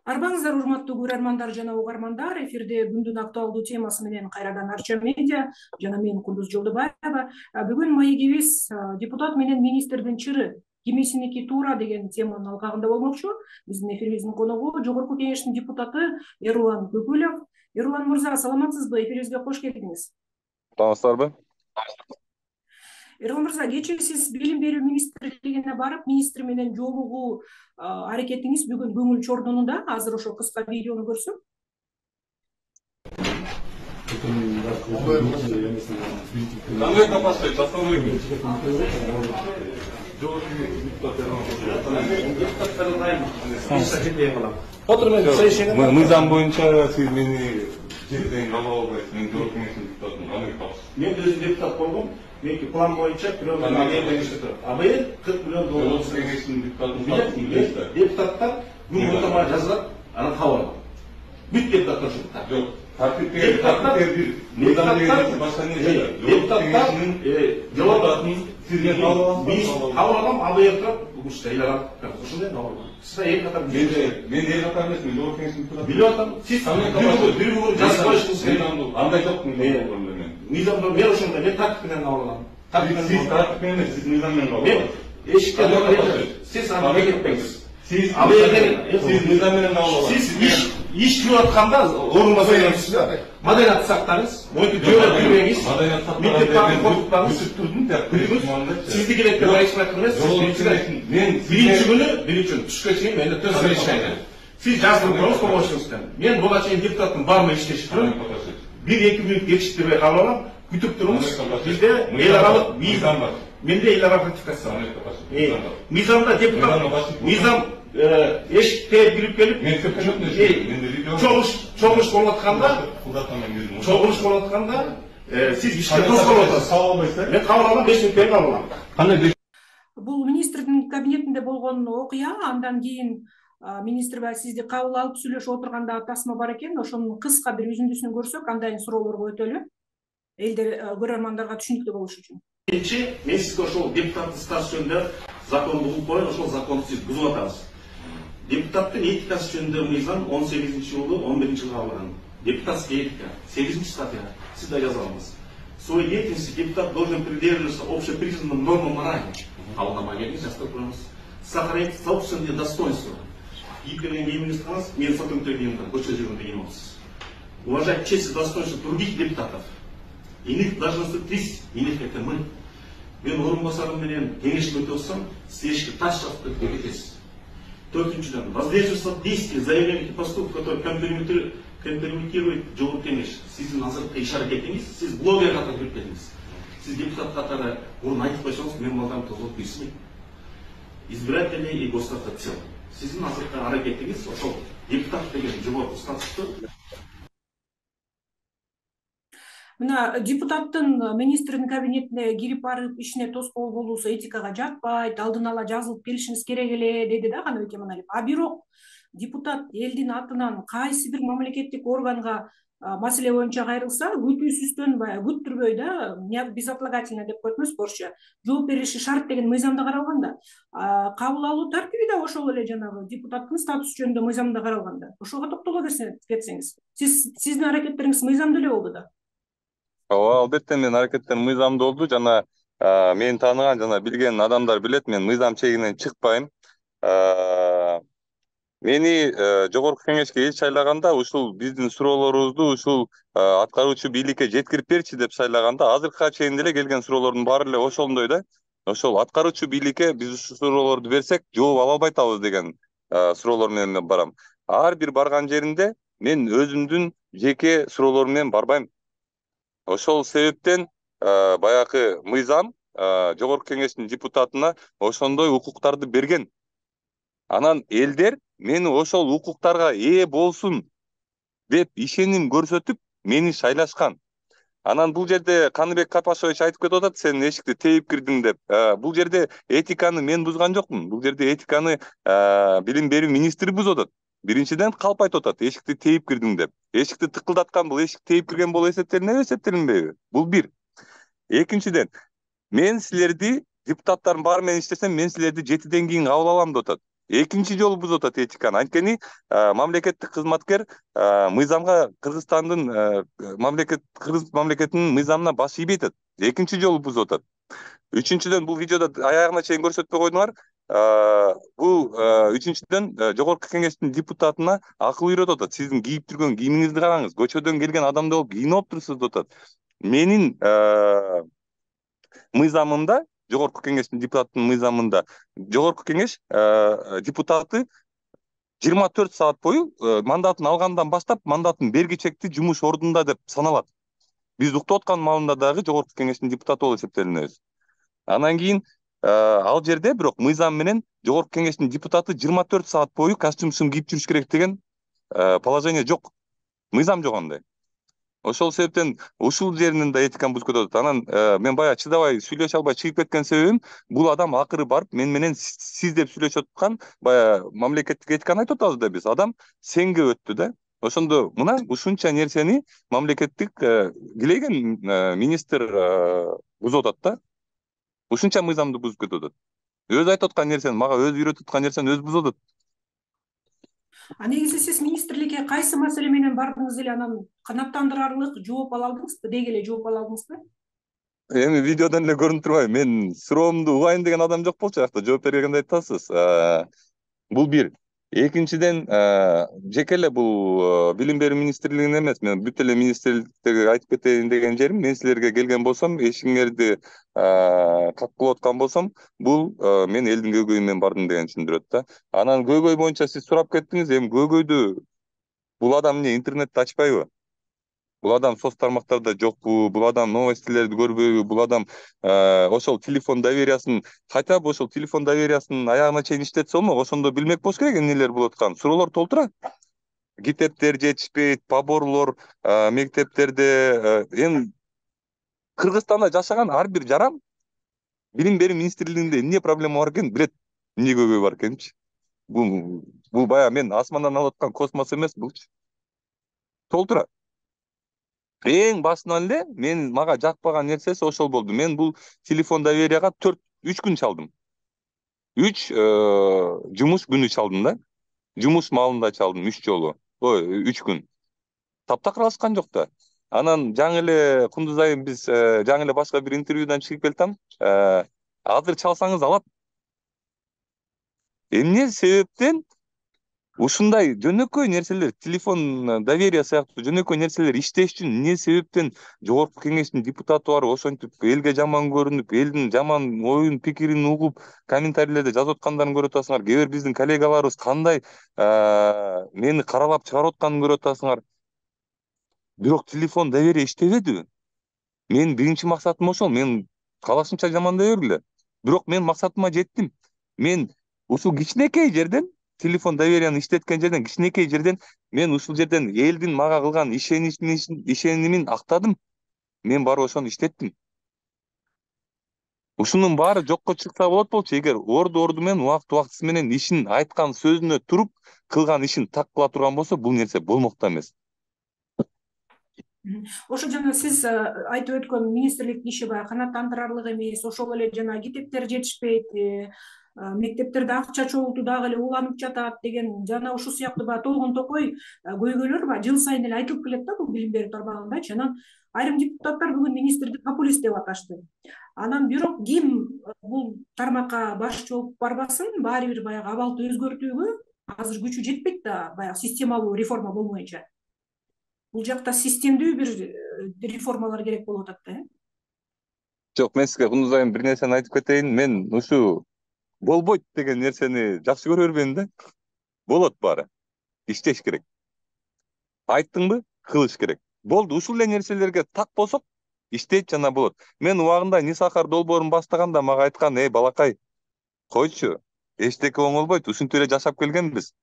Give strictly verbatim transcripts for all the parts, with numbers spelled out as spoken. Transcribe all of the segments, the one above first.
Арбаңыздар, урматтуу көрөрмандар жана угармандар, эфирде күндүн актуалдуу темасы менен кайрадан Арча медиа жана мен Кундуз Жолдобаева. Бүгүн маегибиз депутат менен министрдин чыры кимисиники туура деген теманын алкагында болмокчу. Биздин эфирибиздин коногу жогорку кеңештин депутаты Эрлан Көкүлов. Эрлан мырза, саламатсызбы? Эфирибизге кош келдиңиз. Саламатсыздарбы? Эрлан мырза, кечээ сиз билим берүү министрлигине барып, министр менен жолугуу аракетиңиз бүгүн көңүл чордонунда. Азыр ошо кыска видеону көрсөк. Мыйзам боюнча сиз мени жерден кабыл албайсыз. Мен жогорку кеңештин депутатымын. Кандай тапсыз? Мен өзүм депутат болгом. Меники план боюнча бирөө абыйыл кырк миллион доллар. Жогорку кеңештин депутатымын. Депутаттар күн мурда жазылат, анан кабыл алат. Бүт депутаттар ушунда. Жок. Тартиптер, тартиптер бир. Мыйзам деген башка нерсе. Депутаттар депутатын сизден кабыл аласыз. Кабыл алам, абыйыл турат, ушунда ыйлап ушундай кабыл алам. Сиз эки катар мен мен эки катар эмес, мен жогорку кеңештин депутатымын. билип атам. Сиз бир күн жазып коюшуңуз керек. Андай жок мен. Мыйзамда мен ошондой, мен тартип менен кабыл алам. Сиз тартип менен эмес, сиз мыйзам менен кабыл аласыз. Эшикке сиз аны кетпеңиз. Сиз сиз мыйзам менен кабыл аласыз. Сиз иш кылып атканда орунма сөйлөңүз. Маданият сактаңыз, мойтуп жөө жүрбөңүз. Маданият сактаңыз. Турдум деп. Сизди керекке байышмак эмес. Мен биринчи күнү, биринчи күнү түшкө чейин менде төз сөйлөшөйм. Сиз жаздырып коюңуз помощниктен. Мен буга чейин депутаттын бармы иштешип турам. бир эки мүнөт кечиктирбей кабыл алам. Күтүп туруңуз. Бизде эл аралык мыйзам бар. Менде эл аралык ратификация бар. Мыйзамда депутат мыйзам эшикке кирип келип, мен көп жок нерсе. Чогуш, чогуш болуп атканда, чогуш болуп атканда, сиз ишке тоскоолуп атасыз. Кабыл албайсыздар. Мен кабыл алам, беш мүнөттөн кабыл алам. Кандай? Бул министрдин кабинетинде болгон окуя, андан кийин министр ба сизди кабыл алып сүйлөшүп отурганда тасма бар экен. Ошонун кыска бир үзүндүсүн көрсөк, андан суроолорго өтөлү. Элдер көрөрмандарга түшүнүктүү болуш үчүн. Биринчи, мен сизге ошол депутаттын статусу жөнүндө закон бугуп коюн, ошол законду сиз бузуп атасыз. Депутаттын этикасы жөнүндө мыйзам он сегизинчи жылы он биринчи жылы кабылган. Депутатская этика, сегизинчи статья. Сиз да жаза аласыз. В своей деятельности депутат должен придерживаться общепризнанным нормам морали. Кабылдамай келиңиз, жазып коюңуз. Сохранить собственное достоинство. Ийгилигин кийимиңизди кылыңыз, мен фотомдой кийимдим, көчө жүргөндө кийип аласыз. Уважать честь и достоинство других депутатов. Иных должностных лиц, иных это мы. Мен орунбасарым менен кеңешке өтүп атсам, сиз эшикке таш жазып кетесиз. Төртүнчүдөн, воздействовать действия, заявления поступков, которые компрометируют жогорку кеңеш. Сиздин азыркы иш аракетиңиз, сиз блогер катары кирип келдиңиз. Сиз депутат катары мурун айтып койсоңуз, мен балдарым тозолуп кирсин. Избиратели и государство в целом. Сиздин азыркы аракетиңиз ошол депутат деген жогорку статусту. Мына депутаттын министрдин кабинетине кирип барып ишине тоскоол болуусу этикага жатпайт, алдын ала жазылып келишиңиз керек эле деди да Каныбек Эманалиев. А бирок депутат элдин атынан кайсы бир мамлекеттик органга маселе боюнча кайрылса, күтүүсүздөн баягы күттүрбөй да, безотлагательно деп коет эмес орусча, жооп бериши шарт деген мыйзамда каралган да. Кабыл алуу тартиби да ошол эле жанагы депутаттын статусу жөнүндө мыйзамда каралган да. Ошого токтоло кетсеңиз. Сиз сиздин аракеттериңиз мыйзамдуу эле болду да. Ооба, албетте мен аракеттем мыйзамдуу болду. Жана мени тааныган жана билген адамдар билет, мен мыйзам чегинен чыкпайм. Мени жогорку кеңешке эл шайлаганда ушул биздин суроолорубузду ушул аткаруучу бийликке жеткирип берчи деп шайлаганда, азыркыга чейин деле келген суроолордун баары эле ошондой да. Ошол аткаруучу бийликке биз ушул суроолорду берсек, жооп ала албай атабыз деген суроолор менен барам. Ар бир барган жеринде мен өзүмдүн жеке суроолорум менен барбайм. Ошол себептен баягы мыйзам жогорку кеңештин депутатына ошондой укуктарды берген. Анан элдер мени ошол укуктарга ээ болсун деп ишеним көрсөтүп мени шайлашкан. Анан бул жерде Каныбек Капашович айтып кетип атат, сен эшикти теип кирдиң деп. Бул жерде этиканы мен бузган жокмун. Бул жерде этиканы билим берүү министри бузуп атат. Биринчиден калп айтып атат, эшикти теип кирдиң деп. Эшикти тыкылдаткан бул эшик теип кирген болуп эсептелинеби, эсептелинбейби? Бул бир. Экинчиден, мен силерди депутаттардын баары менен иштесем, мен силерди жетиден кийин кабыл алам деп атат. экинчи жолу бузуп атат этиканы. Анткени мамлекеттик кызматкер мыйзамга Кыргызстандын мамлекет Кыргыз мамлекетинин мыйзамына баш ийбей атат. Экинчи жолу бузуп атат. Үчүнчүдөн бул видеодо аягына чейин көрсөтпөй койдуңар. Бул үчүнчүдөн жогорку кеңештин депутатына акыл үйрөтүп атат. Сиздин кийип жүргөн кийимиңизди караңыз. Көчөдөн келген адамдай болуп кийинип отурсуз деп атат. Менин мыйзамымда, жогорку кеңештин депутатынын мыйзамында жогорку кеңеш депутаты жыйырма төрт саат бою мандатын алгандан баштап мандатын бергичекти жумуш ордунда деп саналат. Биз уктап аткан маалында дагы жогорку кеңештин депутаты болуп эсептелинебиз. Анан кийин ал жерде бирок мыйзам менен жогорку кеңештин депутаты жыйырма төрт саат бою костюм кийип жүрүш керек деген положение жок. Мыйзам жок андай. Ошол себептен ушул жеринен да этиканы бузуп кетип атат. Анан мен баягы чыдабай сүйлөшө албай чыгып кеткен себебим, бул адам акыры барып мен менен сиз деп сүйлөшүп аткан, баягы мамлекеттик этиканы айтып атабыз да биз. Адам сенге өттү да. Ошондо мына ушунча нерсени мамлекеттик килеген министр бузуп атат да. Ушунча мыйзамды бузуп кетип атат. Өзү айтып аткан нерсени, мага өзү үйрөтүп аткан нерсени өзү бузуп атат. А негизи сиз министрликке кайсы маселе менен бардыңыз эле, анан канааттандырарлык жооп ала алдыңызбы, деги эле жооп ала алдыңызбы? Эми видеодон эле көрүнүп турбайбы, мен суроомду угайын деген адам жок болчу жакта, жооп бергенде айтасыз. Бул бир. Экинчиден, жеке эле бул билим берүү министрлигинин эмес, мен бүт эле министрликтерге айтып кетейин деген жерим, мен силерге келген болсом, эшигиңерди каккылап аткан болсом, бул мен элдин көйгөйү менен бардым деген түшүндүрөт да. Анан көйгөй боюнча сиз сурап кеттиңиз, эми көйгөйдү бул адам эмне интернетти ачпайбы? Бул адам соц тармактарда жокпу, бул адам новостилерди көрбөйбү, бул адам ошол телефон довериясын, хотя бы ошол телефон довериясын аягына чейин иштетсе болмок, ошондо билмек болуш керек эмнелер болуп атканын. Суроолор толтура. Китептер жетишпейт, поборлор мектептерде. Эми Кыргызстанда жашаган ар бир жаран билим берүү министрлигинде эмне проблема бар экенин билет, эмне көйгөй бар экенинчи. Бул бул баягы мен асмандан алып аткан космос эмес булчу. Толтура. Эң башынан эле мен мага жакпаган нерсеси ошол болду. Мен бул телефон доверияга төрт үч күн чалдым. үч жумуш күнү чалдым да. Жумуш маалында чалдым үч жолу. Ой, үч күн. Таптакыр алышкан жок да. Анан жаңы эле Кундуз айым биз жаңы эле башка бир интервьюдан чыгып келтам. Азыр чалсаңыз алат. Эмне себептен ушундай жөнөкөй нерселер, телефон доверия сыяктуу жөнөкөй нерселер иштеш үчүн эмне себептен жогорку кеңештин депутаты барып ошентип элге жаман көрүнүп, элдин жаман оюн, пикирин угуп, комментарийлерде жазып аткандарын көрүп атасыңар. Кээ бир биздин коллегаларыбыз кандай мени каралап чыгарып атканын көрүп атасыңар. Бирок телефон доверия иштебеди. Мен биринчи максатым ошол. Мен калашымча жамандай бергиле. Бирок мен максатыма жеттим. Мен ушул кичинекей жерден, телефон доверияны иштеткен жерден, кичинекей жерден мен ушул жерден элдин мага кылган ишенимин актадым. Мен барып ошону иштеттим. Ушунун баары жокко чыкса болот болчу, эгер орду орду менен, убакыт убактысы менен ишин айткан сөзүнө туруп, кылган ишин так кыла турган болсо, бул нерсе болмок да эмес. Ошо жана сиз айтып өткөн министрликтин иши баягы канааттандырарлык эмес, ошол эле жана китептер жетишпейт, мектептерде акча чогултуу дагы эле уланып жатат деген жана ушул сыяктуу баягы толгон токой көйгөйлөр баягы жыл сайын эле айтылып келет да бул билим берүү тармагындачы. Анан айрым депутаттар бүгүн министрди популист деп аташты. Анан бирок ким бул тармакка башчы болуп барбасын, баары бир баягы абалды өзгөртүүгө азыр күчү жетпейт да, баягы системалуу реформа болмоюнча. Бул жакта системдүү бир реформалар керек болуп атат да. Жок, мен сизге Кундуз айым бир нерсени айтып кетейин. Мен ушу болбойт деген нерсени жакшы көрө бербейм да. Болот баары. Иштеш керек. Айттыңбы? Кылыш керек. Болду, ушул эле нерселерге так болсок, иштейт жана болот. Мен убагында Нисахар долбоорун баштаганда мага айткан, "Эй, балакай, койчу. Эчтеке оңолбойт, ушинтип эле жашап келгенбиз."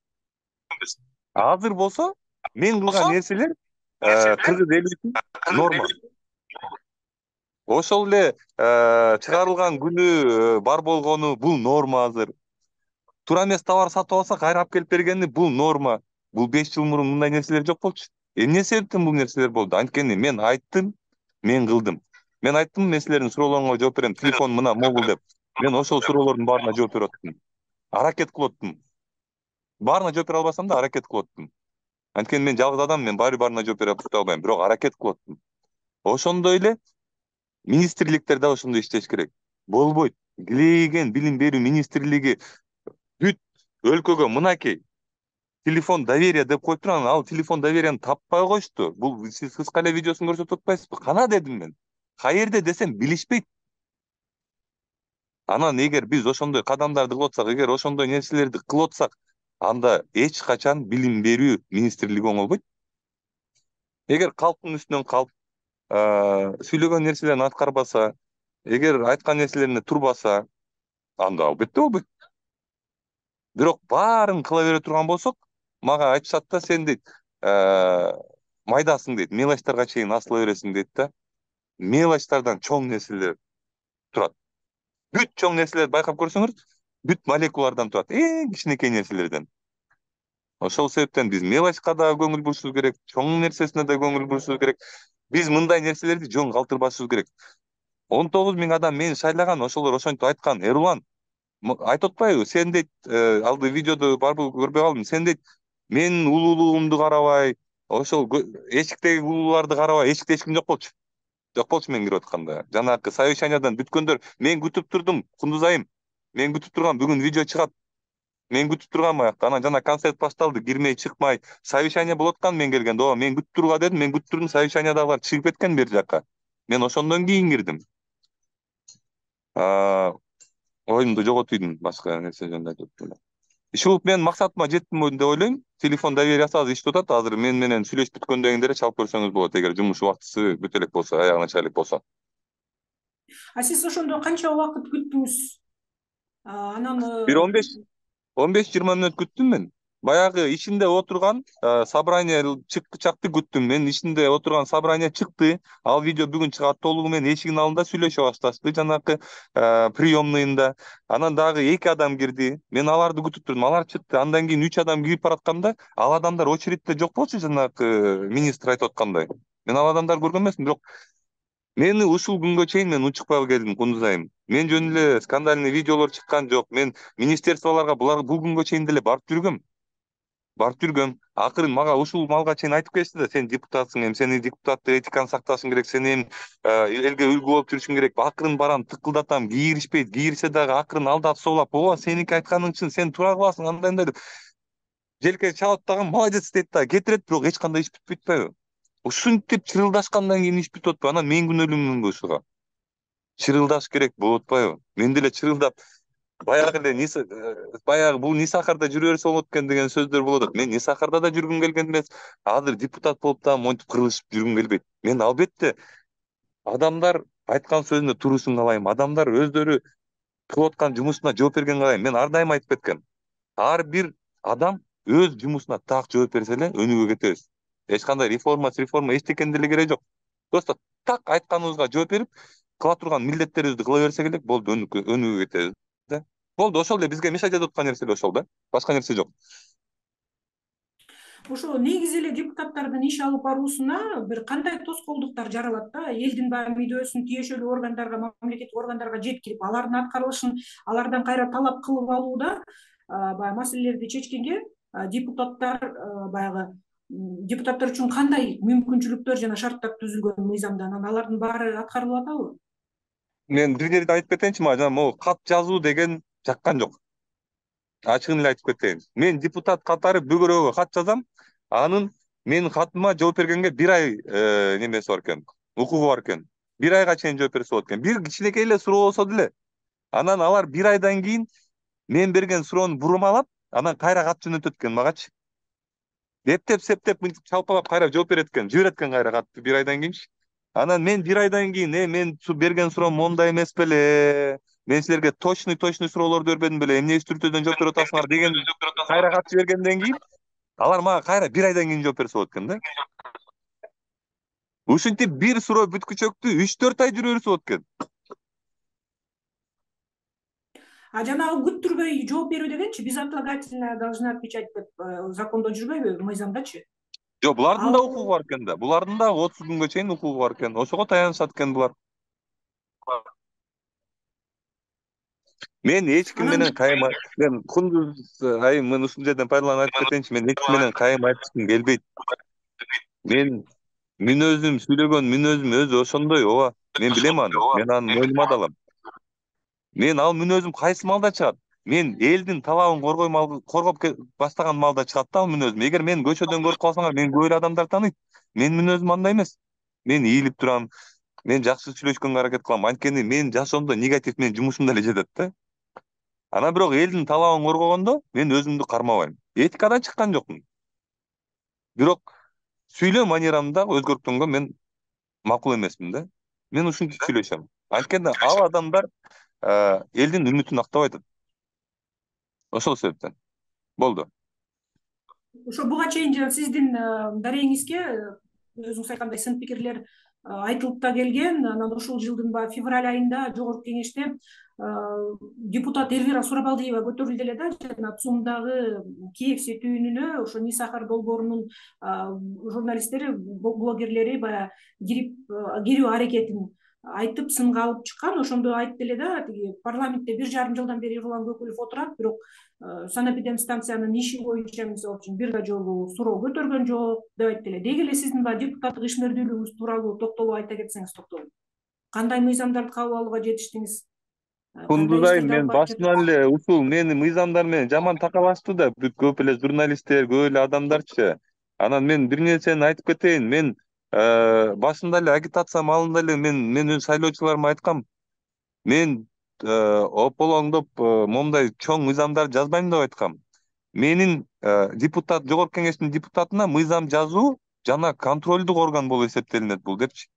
Азыр болсо, мен кылган нерселер кыргыз эли үчүн норма. Ошол эле чыгарылган күнү бар болгону бул норма азыр. Туура эмес товар сатып алсак, кайра алып келип бергени бул норма. Бул беш жыл мурун мындай нерселер жок болчу. Эмне себептен бул нерселер болду? Анткени мен айттым, мен кылдым. Мен айттым, мен силердин суроолоруңарга жооп берем, телефон мына могул деп. Мен ошол суроолордун баарына жооп берип аттым. Аракет кылып аттым. Баарына жооп бере албасам да аракет кылып аттым. Анткени мен жалгыз адам, мен баары баарына жооп бере албайм, бирок аракет кылып аттым. Ошондой эле министрликтер да ошондой иштеш керек. Болбойт. Килейген билим берүү министрлиги бүт өлкөгө мынакей телефон доверия деп коюп турган, ал телефон доверияны таппай коюшту. Бул сиз кыска эле видеосун көрсөтүп атпайсызбы? Кана дедим мен. Каерде десем билишпейт. Анан эгер биз ошондой кадамдарды кылып атсак, эгер ошондой нерселерди кылып атсак, анда эч качан билим берүү министрлиги оңолбойт. Эгер калктын үстүнөн калп сүйлөгөн нерселерин аткарбаса, эгер айткан нерселерине турбаса, анда албетте болбойт. Бирок баарын кыла бере турган болсок, мага айтышат да, сен дейт, майдасың дейт, мелочтарга чейин асыла бересиң дейт да. Мелочтардан чоң нерселер турат. Бүт чоң нерселерди байкап көрсөңүз, бүт молекулалардан турат, эң кичинекей нерселерден. Ошол себептен биз мелочка да көңүл бурушубуз керек, чоң нерсесине да көңүл бурушубуз керек. Биз мындай нерселерди жөн калтырбашыбыз керек. он тогуз миң адам мени шайлаган, ошолор ошентип айткан. Эрлан айтып атпайбы? Сен дейт, алды видеоду барбы көрбөй калдым. Сен дейт, менин улуулугумду карабай, ошол эшиктеги улууларды карабай, эшикте эч ким жок болчу. Жок болчу мен кирип атканда. Жанагы совещаниядан бүткөндөр, мен күтүп турдум, Кундуз айым. Мен күтүп тургам, бүгүн видео чыгат. Мен күтүп тургам аякта. Анан жана концерт башталды, кирмей чыкмай. Совещание болуп аткан мен келгенде. Ооба, мен күтүп турга дедим, мен күтүп турдум, совещаниядагылар чыгып кеткен бер жака. Мен ошондон кийин кирдим. Оюмду жоготуйдум, башка нерсе жөнүндө айтып элем. Ушул мен максатыма жеттим деп ойлойм. Телефон довериясы азыр иштеп атат. Азыр мен менен сүйлөшүп бүткөндөн кийин деле чалып көрсөңүз болот, эгер жумуш убактысы бүтө элек болсо, аягына чыга элек болсо. А сиз ошондо канча убакыт күттүңүз? Анан бир он беш он беш жыйырма мүнөт күттүм мен. Баягы ишинде отурган собрание чыкчакты күттүм. Мен ишинде отурган собрание чыкты. Ал видео бүгүн чыгат, толугу менен эшигин алдында сүйлөшө башташты, жанагы приемныйында. Анан дагы эки адам кирди. Мен аларды күтүп турдум. Алар чыкты. Андан кийин үч адам кирип баратканда, ал адамдар очередьте жок болчу, жанагы министр айтып аткандай. Мен ал адамдарды көргөн эмесмин, бирок мени ушул күнгө чейин мен унчукпай келдим, Кундуз айым. Мен жөн эле скандальный видеолор чыккан жок. Мен министерстволорго булар бул күнгө чейин деле барып жүргөм. Барып жүргөм. Акырын мага ушул малга чейин айтып келишти да, сен депутатсың, эми сени депутаттык этиканы сакташың керек, сен эми элге үлгү болуп жүрүшүң керек. Акырын барам, тыкылдатам, кийиришпейт, кийирсе дагы акырын алдап соолап, ооба сеники айтканың чын, сен туура кыласың, андай андай деп. Желке чалып дагы молодец дейт да, кетирет, бирок эч кандай иш бүтпөйт атпайбы? Ушинтип чырылдашкандан кийин иш бүтүп атпайбы? Анан мен күнөөлүүмүнбү ушуга? Чырылдаш керек болуп атпайбы? Мен деле чырылдап, баягы эле баягы бул Нисахарда жүрө берсе болот экен деген сөздөр болуп атат. Мен Нисахарда да жүргүм келген эмес. Азыр депутат болуп да монтип кырылышып жүргүм келбейт. Мен албетте адамдар айткан сөзүнө турушун каалайм. Адамдар өздөрү кылып аткан жумушуна жооп бергенин каалайм. Мен ар дайым айтып кеткем. Ар бир адам өз жумушуна так жооп берсе эле өнүгүп кетебиз. Эч кандай реформа, реформа эчтекенин деле кереги жок. Просто так айтканыбызга жооп берип, кыла турган милдеттерибизди кыла берсек эле болду, өнүгүп кетебиз да. Болду, ошол эле бизге мешать этип аткан нерсе ошол да. Башка нерсе жок. Ошо негизи эле депутаттардын иш алып баруусуна бир кандай тоскоолдуктар жаралат да? Элдин баягы мүдөөсүн тиешелүү органдарга, мамлекеттик органдарга жеткирип, алардын аткарылышын алардан кайра талап кылып алууда баягы маселелерди чечкенге депутаттар баягы депутаттар үчүн кандай мүмкүнчүлүктөр жана шарттар түзүлгөн мыйзамда, анан алардын баары аткарылып атабы? Мен бир жерде айтып кетейинчи, мага жана могу кат жазуу деген жаккан жок. Ачыгын эле айтып кетейин. Мен депутат катары бөгөрөгө кат жазам. Анын менин катыма жооп бергенге бир ай немеси бар экен, укугу бар экен. Бир айга чейин жооп берсе болот экен. Бир кичинекей эле суроо болсо деле. Анан алар бир айдан кийин мен берген суроону бурмалап, анан кайра кат жөнөтөт экен магачы. Эптеп, септеп, мынтип чалпалап кайра жооп берет экен, жиберет экен кайра катты бир айдан кийинчи. Анан мен бир айдан кийин, э мен берген суроом мондай эмес беле? Мен силерге точный точный суроолорду бербедим беле? Эмне үстүртөдөн жооп берип атасыңар деген кайра кат жибергенден кийин алар мага кайра бир айдан кийин жооп берсе болот экен да. Ушинтип бир суроо бүткүчөктү үч төрт ай жүрө берсе болот экен. А жанагы күттүрбөй жооп берүү дегенчи, безотлагательно должны отвечать деп закондо жүрбөйбү, мыйзамдачы? Жок, булардын да укугу бар экен да. Булардын да отуз күнгө чейин укугу бар экен. Ошого таянышат экен булар. Мен эч ким Анан менен кайым мен Кундуз айым мен ушул жерден пайдаланып айтып кетейинчи, мен эч ким менен кайым айтышкым келбейт. Мен мүнөзүм сүйлөгөн мүнөзүм өзү ошондой, ооба. Мен билем аны. Мен аны мойнума да алам. Мен ал мүнөзүм кайсы маалда чыгат? Мен элдин талабын коргойм ал коргоп баштаган маалда чыгат да ал мүнөзүм. Эгер мен көчөдөн көрүп калсаңар, мен көп эле адамдар тааныйт. Менин мүнөзүм андай эмес. Мен ийилип турам, мен жакшы сүйлөшкөнгө аракет кылам. Анткени мен жашоомдо негатив менин жумушумда эле жетет да. Анан бирок элдин талабын коргогондо мен өзүмдү кармабайм. Этикадан чыккан жокмун. Бирок сүйлөө манерамды дагы өзгөрткөнгө мен макул эмесмин да. Мен ушинтип сүйлөшөм. Анткени ал адамдар элдин үмүтүн актабай атат. Ошол себептен. Болду. Ошо буга чейин жана сиздин дарегиңизге өзүңүз айткандай сын пикирлер айтылып да келген. Анан ушул жылдын баягы февраль айында жогорку кеңеште депутат Элвира Сурабалдиева көтөрүлдү эле да, жана ЦУМдагы Киевси түйүнүнө ошо Нисахар долбоорунун журналисттери, блогерлери баягы кирип кирүү аракетин айтып сынга алып чыккан. Ошондо айтты эле да, тиги парламентте бир жарым жылдан бери Эрлан Көкүлов отурат, бирок санэпидемстанциянын иши боюнча мисалы үчүн бир да жолу суроо көтөргөн жок деп айтты эле. Деги эле сиздин баягы депутаттык ишмердүүлүгүңүз тууралуу токтолуп айта кетсеңиз токтолуп. Кандай мыйзамдарды кабыл алууга жетиштиңиз? Кундуз айым, мен башынан эле ушул менин мыйзамдар менен жаман такалашты да, бүт көп эле журналисттер, көп эле адамдарчы. Анан мен бир нерсени айтып кетейин. Мен башында эле агитация маалында эле мен мен өз шайлоочуларыма айткам. Мен ополоңдоп момундай чоң мыйзамдар жазбайм деп айткам. Менин депутат, жогорку кеңештин депутатына мыйзам жазуу жана контролдук орган болуп эсептелинет бул депчи.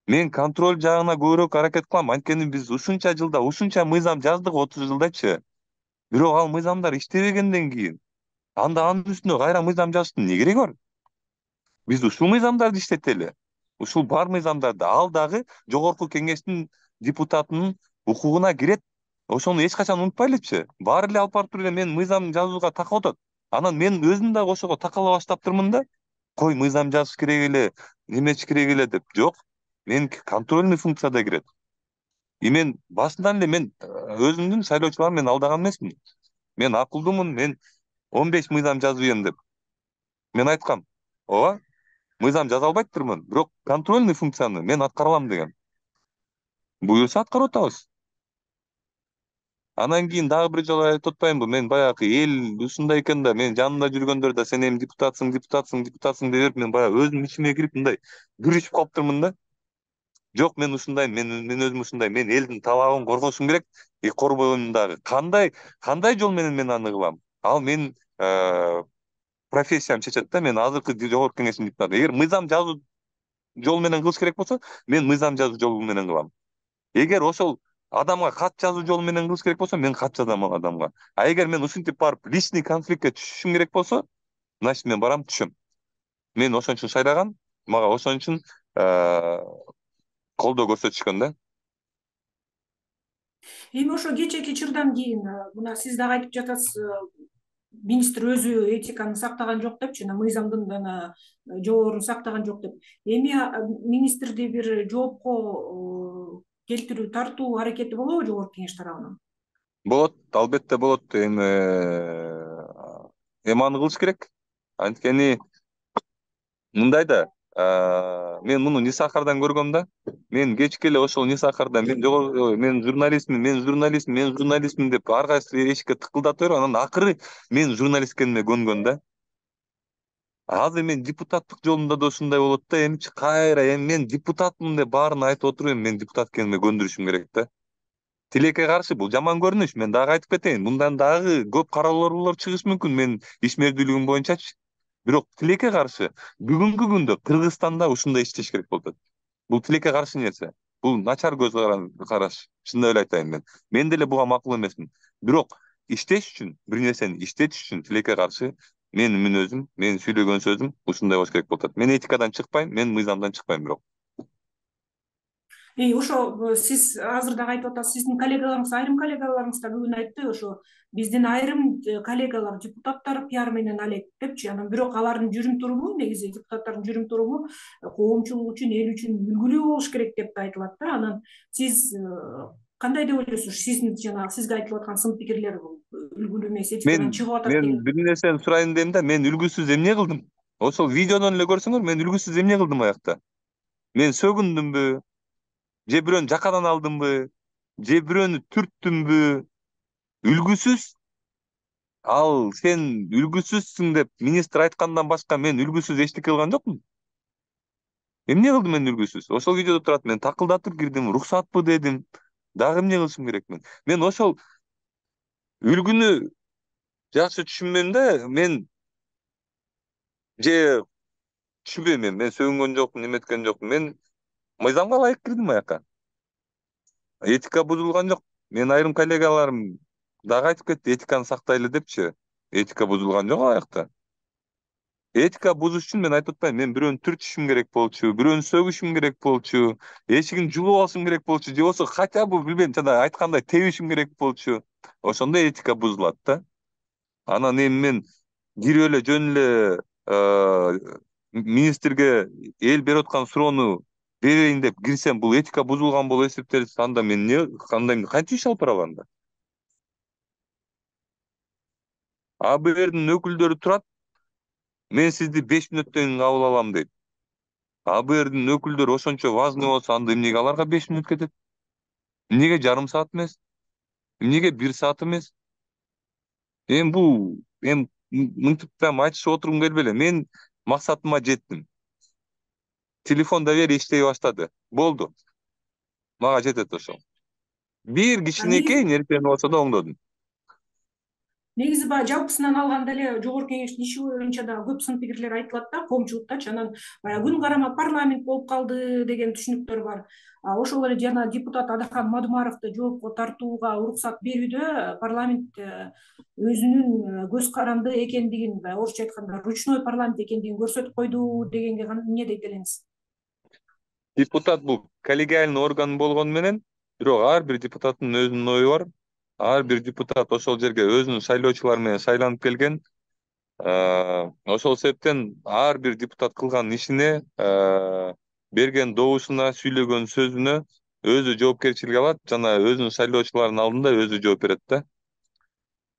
Мен контроль жагына көбүрөөк аракет кылам. Анткени биз ушунча жылда ушунча мыйзам жаздык отуз жылдачы. Бирок ал мыйзамдар иштебегенден кийин анда анын үстүнө кайра мыйзам жазыштын эмне кереги бар? Биз ушул мыйзамдарды иштетели. Ушул бар мыйзамдарды ал дагы жогорку кеңештин депутатынын укугуна кирет. Ошону эч качан унутпайлычы. Баары эле алып барып туруп эле мен мыйзам жазууга такап атат. Анан мен өзүм дагы ошого такала баштаптырмын да. Кой мыйзам жазыш керек эле, немечи керек эле деп. Жок. Мен контрольный функцияда кирет. И мен башынан эле мен өзүмдүн шайлоочуларымды мен алдаган эмесмин. Мен акылдуумун, мен он беш мыйзам жазып ийем деп. Мен айткам, ооба, мыйзам жаза албайттырмын, бирок контрольный функцияны мен аткара алам деген. Буюрса аткарып атабыз. Анан кийин дагы бир жолу айтып атпаймынбы, мен баягы эл ушундай экен да, мен жанымда жүргөндөр да сен эми депутатсың, депутатсың, депутатсың деп берип, мен баягы өзүм ичиме кирип мындай күрүшүп калыптырмын да. Жок, мен ушундай, мен мен өзүм ушундай, мен элдин талабын коргошум керек, и корбойм дагы. Кандай кандай жол менен мен аны кылам? Ал менин профессиям чечет да, мен азыркы жогорку кеңештин депутаты. Эгер мыйзам жазуу жол менен кылыш керек болсо, мен мыйзам жазуу жолу менен кылам. Эгер ошол адамга кат жазуу жолу менен кылыш керек болсо, мен кат жазам ал адамга. А эгер мен ушинтип барып личный конфликтке түшүшүм керек болсо, значит мен барам түшөм. Мен ошон үчүн шайлаган, мага ошон үчүн колдоо көрсөтүшкөн да. Эми ошо кечээки чырдан кийин мына сиз дагы айтып жатасыз, министр өзү этиканы сактаган жок деп, жана мыйзамдын жана жоболорун сактаган жок деп. Эми министрди бир жоопко келтирүү, тартуу аракети болобу жогорку кеңеш тарабынан? Болот, албетте болот. Эми эми аны кылыш керек. Анткени мындай да, мен муну Нисахардан көргөм да. Мен кечке эле ошол Нисахарда мен жогорку мен журналистмин, мен журналистмин, мен журналистмин деп ар кайсы эшикке тыкылдата берип, анан акыры мен журналист экениме көнгөн да. Азыр мен депутаттык жолунда да ушундай болот да. Эмчи кайра эми мен депутатмын деп баарын айтып отуруп, эми мен депутат экениме көндүрүшүм керек да. Тилекке каршы бул жаман көрүнүш. Мен дагы айтып кетейин. Мындан дагы көп каралоолор чыгышы мүмкүн мен ишмердүүлүгүм боюнчачы. Бирок тилекке каршы бүгүнкү күндө Кыргызстанда ушундай иштеш керек болуп атат. Бул тилекке каршы нерсе. Бул начар көз караш. Чындап эле айтайын мен. Мен деле буга макул эмесмин. Бирок иштеш үчүн, бир нерсени иштетиш үчүн тилекке каршы менин мүнөзүм, менин сүйлөгөн сөзүм ушундай болуш керек болуп атат. Мен этикадан чыкпайм, мен мыйзамдан чыкпайм бирок. И ошо сиз азыр дагы айтып атасыз, сиздин коллегаларыңыз, айрым коллегаларыңыз да бүгүн айтты, ошо биздин айрым коллегалар, депутаттар пиар менен алек депчи. Анан бирок алардын жүрүм туруму, негизи депутаттардын жүрүм туруму коомчулук үчүн, эл үчүн үлгүлүү болуш керек деп да айтылат да. Анан сиз кандай деп ойлойсуз? Сиздин жанагы сизге айтылып аткан сын пикирлер үлгүлүү эмес, Мен этикадан чыгып атат мен деген. бир нерсени сурайын дедим да, мен үлгүсүз эмне кылдым? Ошол видеодон эле көрсөңөр, мен үлгүсүз эмне кылдым аякта? Мен сөгүндүмбү? Же бирөөнү жакадан алдымбы? Же бирөөнү түрттүмбү? Үлгүсүз. Ал сен үлгүсүзсүң деп министр айткандан башка мен үлгүсүз эчтеке кылган жокмун. Эмне кылдым мен үлгүсүз? Ошол видеодо турат, мен такылдатып кирдим, уруксатпы дедим. Дагы эмне кылышым керек мен? Мен ошол үлгүнү жакшы түшүнбөйм да, мен же түшүнбөйм мен, мен сөгүнгөн жокмун, эметкен жокмун. Мен мыйзамга ылайык кирдим аяка. Этика бузулган жок. Мен айрым коллегаларым дагы айтып кетти, этиканы сактайлы депчи. Этика бузулган жок аякта. Этика бузуш үчүн мен айтып атпайм, мен бирөөнү түртүшүм керек болчу, бирөөнү сөгүшүм керек болчу, эшигин жулуп алышым керек болчу, же болбосо хотя бы билбейм, жана айткандай тебишим керек болчу. Ошондо этика бузулат да. Анан эми мен кирип эле жөн эле министрге эл берип аткан суроону берейин деп кирсем, бул этика бузулган болуп эсептелсе, анда мен эмне кандай кантип иш алып барам анда? А бэ эрдин өкүлдөрү турат, мен сизди беш мүнөттөн кийин кабыл алам дейт. А бэ эрдин өкүлдөрү ошончо важный болсо, анда эмнеге аларга беш мүнөт кетет? Эмнеге жарым саат эмес? Эмнеге бир саат эмес? Эми бул эми мынтип прям айтышып отургум келбей эле. Мен максатыма жеттим. Телефон да бери иштей баштады. Болду. Мага жетет ошол. Бир кичинекей нерсени болсо да оңдодум. Негизи баягы жалпысынан алганда эле жогорку кеңештин иши боюнча дагы көп сын пикирлер айтылат да, коомчулуктачы. Анан баягы күн карама парламент болуп калды деген түшүнүктөр бар. Ошол эле жана депутат Адахан Мадумаровду жоопко тартууга уруксат берүүдө парламент өзүнүн көз каранды экендигин, орусча айтканда ручной парламент экендигин көрсөтүп койду дегенге эмне дейт элеңиз? Депутат бул коллегиальный орган болгону менен, бирок ар бир депутаттын өзүнүн ою бар. Ар бир депутат ошол жерге өзүнүн шайлоочулары менен шайланып келген. Ошол себептен ар бир депутат кылган ишине, берген добушуна, сүйлөгөн сөзүнө өзү жоопкерчилик алат жана өзүнүн шайлоочуларынын алдында өзү жооп берет да.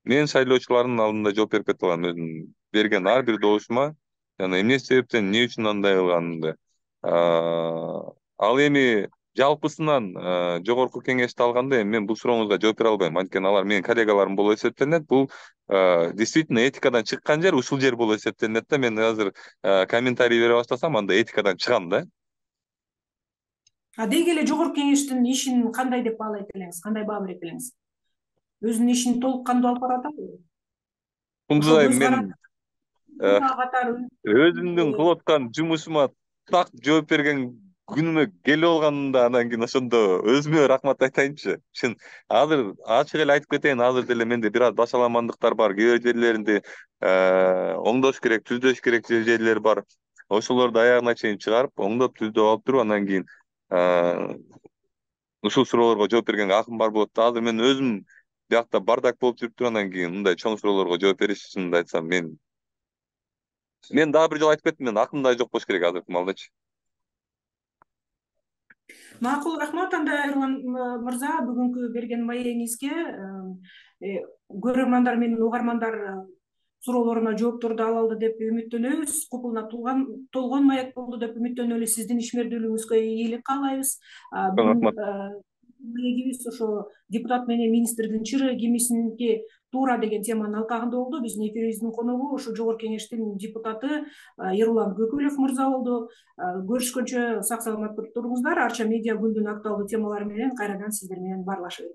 Мен шайлоочулардын алдында жооп берип кете алам өзүм берген ар бир добушума жана эмне себептен, эмне үчүн андай кылганымды. Ал эми жалпысынан жогорку кеңешти алганда эми мен бул сурооңузга жооп бере албайм, анткени алар менин коллегаларым болуп эсептелинет. Бул действительно этикадан чыккан жер ушул жер болуп эсептелинет да. Мен азыр комментарий бере баштасам, анда этикадан чыгам да. А деги эле жогорку кеңештин ишин кандай деп баалайт элеңиз? Кандай баа берет элеңиз? Өзүнүн ишин толук кандуу алып барып атабы? Ушундай мен өзүмдүн кылып аткан жумушума так жооп берген күнүмө келип алганымда, анан кийин ошондо өзүмө рахмат айтайынчы. Чын азыр ачык эле айтып кетейин, азыр деле менде бир аз башаламандыктар бар. Кээ бир жерлеринде оңдош керек, түздөш керек жерлер бар. Ошолорду аягына чейин чыгарып, оңдоп, түздөп алып туруп, анан кийин ушул суроолорго жооп бергенге акым бар болот да. Азыр мен өзүм биякта бардак болуп жүрүп туруп, анан кийин мындай чоң суроолорго жооп бериш, чынымды айтсам, мен мен дагы бир жолу айтып кеттим, мен акым да жок болуш керек азыркы маалдачы. Макул, рахмат. Анда Эрлан мырза, бүгүнкү берген маегиңизге көрөрмандар менен угармандар суроолоруна жоопторду ала алды деп үмүттөнөбүз. Купулуна толгон маек болду деп үмүттөнөлү. Сиздин ишмердүүлүгүңүзгө ийгилик каалайбыз. Маегибиз ошо депутат менен министрдин чырыгы кимисиники туура деген теманын алкагында болду. Биздин эфирибиздин коногу ошо жогорку кеңештин депутаты Эрулан Көкөлөв мырза болду. Көрүшкөнчө сак саламат туруңуздар. Арча медиа күндүн актуалдуу темалары менен кайрадан сиздер менен баарлашып